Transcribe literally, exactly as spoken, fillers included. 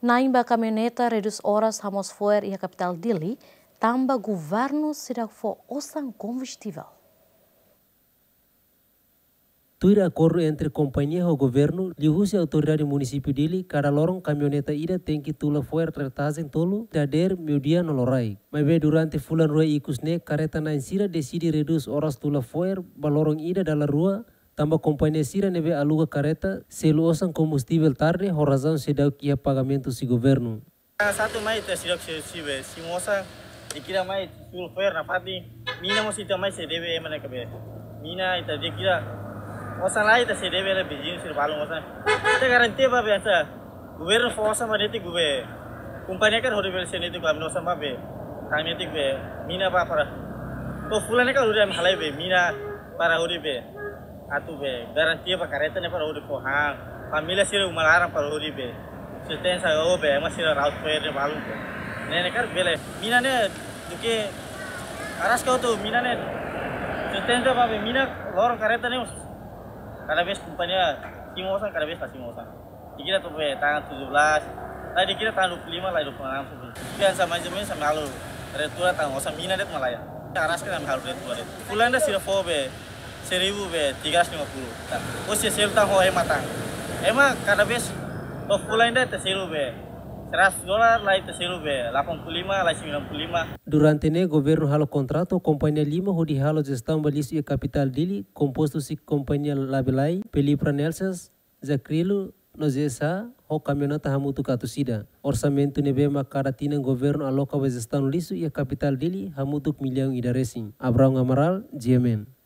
Na'in ba kamioneta redús oras hamoos fo'er iha kapitál Dili, tanba governu seidauk fó osan kombustivel. Tuir akordu entre kompañia ho governu, liuhusi autoridade munisípiu Dili, kada loron kamioneta ida tenke tula fo'er retajen tolu, dadeer, meiudia no loraik. Maibé durante fulan rua ikus ne'e, karreta na'in sira deside redús oras tula fo'er ba loron ida dala rua, tanba kompañia sira ne'ebé aluga karreta selu osan kombustivel tarde ho razaun seidauk iha pagamentu husi governu. Satu mai ita seidauk sei, sei be, sei mosa, dehan ita mai tula fo'er nafatin, mina mós ita mai sei debe ema ne'ebé. Mina ita dehan ita osan la ita sei debe la viziñu sira balun osan. Ita garantia ba be asa, governu fó osan ba netik be, kompañia kan hodi bele sei netik ba osan ba be, kan netik be, mina ba para. To'o fulan ne'e kan hodi ami halai be, mina para hodi be. Atu be, garantia ba karreta ne'e para hodi fó han. Família sira uma laran para hodi be. Sustenta o be, ema sira ra'ut fo'er ne'e balun be. Ne'e ne'e karik bele. Mina ne'e, duké araska hotu mina ne'e. Sustenta ba be, mina loron karreta ne'e. Kada vez kompañia, sei mosa, kada vez la sei mosa. Dehan ita to'o be, tanggal tujuh belas. Tadi dehan ita tanggal dua puluh lima, la dua puluh enam, sepuluh. Biasa mais ou menos, ami halo retura tanggal osan mina de'it malae. Araska ami halo retura de'it. Fulan ida sira fó be, seribu be, tiga ratus lima puluh. Nah, o se selu tan ho ema tan. Ema kada vez, to'o fulan ida ita selu be, seratus dolar, la ita selu be, delapan puluh lima, la sembilan puluh lima. Durante ne'e, governu halo kontratu ho kompañia lima hodi halo jestaun ba lixu iha kapitál Dili, kompostu husi kompañia Labelai, Pelipra Nelsas, Jakrilo, no J S H, ho kamioneta hamutuk atus ida. Orsamentu ne'ebé mak kada tinan governu aloka ba jestaun lixu iha kapitál Dili hamutuk millaun ida resin. Abraão Amaral, G M N.